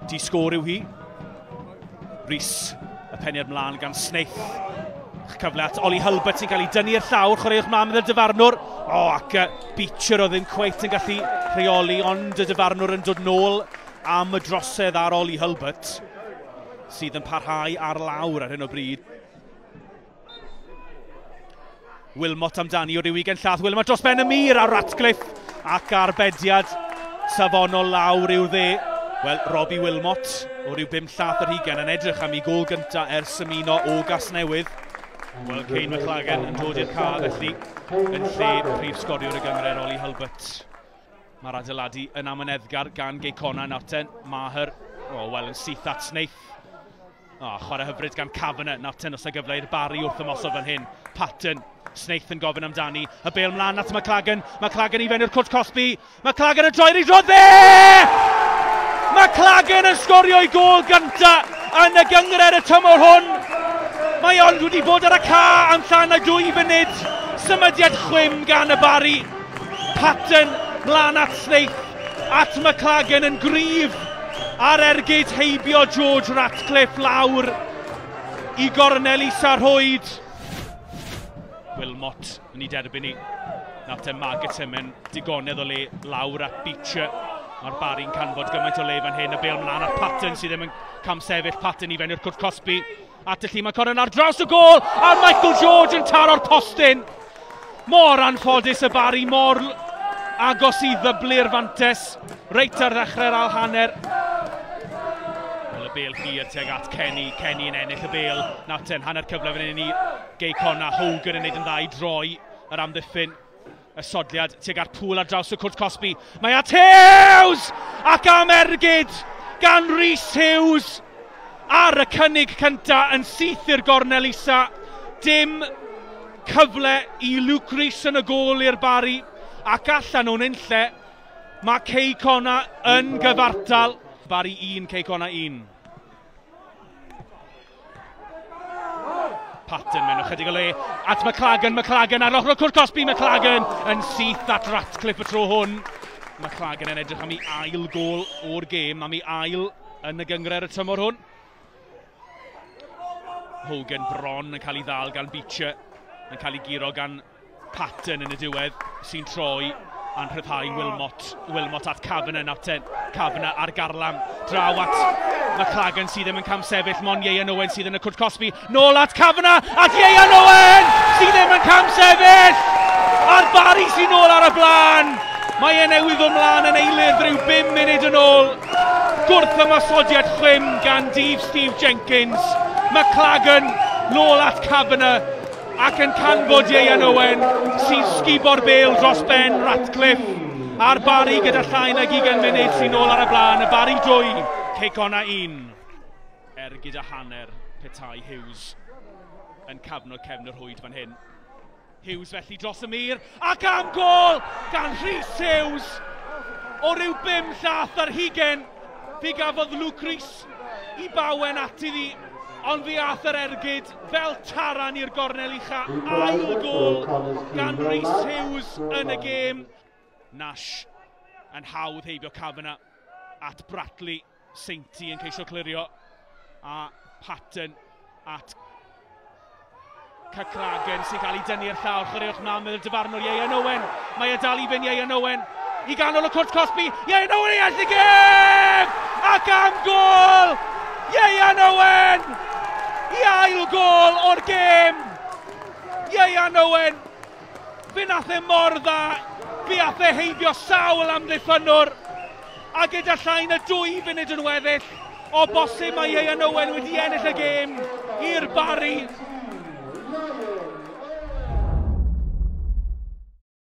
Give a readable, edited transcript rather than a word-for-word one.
Di sgôr yw hi. Rhys, y peniad mlaen gan Snaith. Cyfle at Ollie Hulbert sy'n cael ei dynnu i'r llawr, chwaraewch mlaen gyda'r dyfarnwr. O, ac Beecher oedd ddim cweit yn gallu rheoli, ond y dyfarnwr yn dod nôl am y drosedd ar Ollie Hulbert, sydd yn parhau ar lawr ar hyn o bryd. Wilmot amdani o ryw 20 llath. Wilmot dros ben y mur ar Ratcliffe ac arbediad safonol lawr i'w dde. Wel, Robbie Wilmot o ryw 5 llath yr hugen yn edrych am ei gôl gyntaf ers ymuno o Gasnewydd. Wel, Kane McLagan yn dod i'r ca felly yn lle prif sgoriwr y gynghrair Ollie Hulbert. Mae'r adeiladu yn amyneddgar gan Gei Connah nawr ten. Maher, o, wel, yn syth at Snaith. O, chwarae hyfryd gan Kavanagh. Nawr ten os y gyfle i'r Barri wrth ymosod fan hyn. Patton, Snaith yn gofyn amdani. Y bêl mlaen at McLagan. McLagan i fewn i'r cwrt cosbi. McLagan yn troi'r ei drodd dde! McLagan yn sgorio ei gôl gynta yn y gynghrair y tymor hwn. Mae ond wedi bod ar y ca am llai na 2 funud. Symudiad chwim gan y Barri. Patton mlaen at Snaith. At McLagan yn gryf ar ergyd heibio George Ratcliffe lawr i gornel isa'r rhwyd. Wilmot yn ei derbyn ni. Nawr te Margetson mewn digonedd o le lawr at Beecher. Mae'r Barri'n canfod gymaint o le fan hyn. Y bêl mlaen at Patton sydd ddim yn camsefyll. Patton i fewn i'r cwrt cosbi. At y llun mae Corin ar draws y gôl. A Michael George yn taro'r postyn. Mor anffodus y Barri, mor agos i ddyblu'r fantes. Reit ar ddechrau'r ail hanner. Wel, y bêl hir tuag at Kenny. Kenny yn ennill y bêl. Nawr ten, hanner cyfle fan hyn i Gei Connah. Hogan yn neud yn dda i droi yr amddiffyn. Y sodliad tuag at Pŵl ar draws y cwrt cosbi. Mae at Hughes! Ac am ergyd gan Rhys Hughes ar y cynnig cynta yn syth i'r gornel isa. Dim cyfle i Luke Rees yn y gôl i'r Barri. Ac allan o'n unlle, mae Cei Connah yn gyfartal. Barri 1, Cei Connah 1. Patton mewn ychydig o le at McLagan, McLagan ar ochr y cwrt cosbi, McLagan yn syth at Ratcliffe y tro hwn. McLagan yn edrych am ei ail gôl o'r gêm, am ei ail yn y gynghrair y tymor hwn. Hogan bron yn cael ei ddal gan Beecher, yn cael ei guro gan Patton yn y diwedd, sy'n troi a'n rhyddhau Wilmot. Wilmot at Kavanagh, nawr ten. Kavanagh ar garlam, draw at McLagan sydd ddim yn camsefyll, mon Ieuan Owen sydd yn y cwrt cosbi. Nôl at Kavanagh, at Ieuan Owen sydd ddim yn camsefyll! A'r Barri sy'n nôl ar y blaen! Mae e newydd ddod mlaen yn eilydd rhyw 5 munud yn ôl. Gwrth ymosodiad chwim gan Dave Steve Jenkins. McLagan nôl at Kavanagh ac yn canfod Ieuan Owen sy'n sgubo'r bêl dros ben Ratcliffe. A'r Barri gyda llai nag 20 munud sy'n nôl ar y blaen. Y Barri 2, Cei Connah 1. Er gyda hanner petai Hughes yn cafno cefn y rhwyd fan hyn. Hughes felly dros y mur ac am gôl gan Rhys Hughes o ryw 5 llath ar hugen. Fe gafodd Luke Rees i bawen at iddi, ond fe ath yr ergyd fel taran i'r gornel ucha. Ail gôl gan Rhys Hughes yn y gêm. Nash yn hawdd heibio Kavanagh at Bradley. Sainty yn ceisio clirio a Patton at McLagan sy'n cael ei dynnu i'r llawr. Chwaraewch mlaen meddwl dyfarnwr Ieuan Owen. Mae e dal i fynd Ieuan Owen i ganol y cwrt cosbi. Ieuan Owen i ennill y gêm! Ac am gôl! Ieuan Owen! I ail gôl o'r gêm! Ieuan Owen! Fe nath e mor dda. Fe ath e heibio sawl amddiffynnwr. A gyda llai na 2 funud yn weddill, o bosib mae Ieuan Owen wedi ennill y gêm i'r Barri.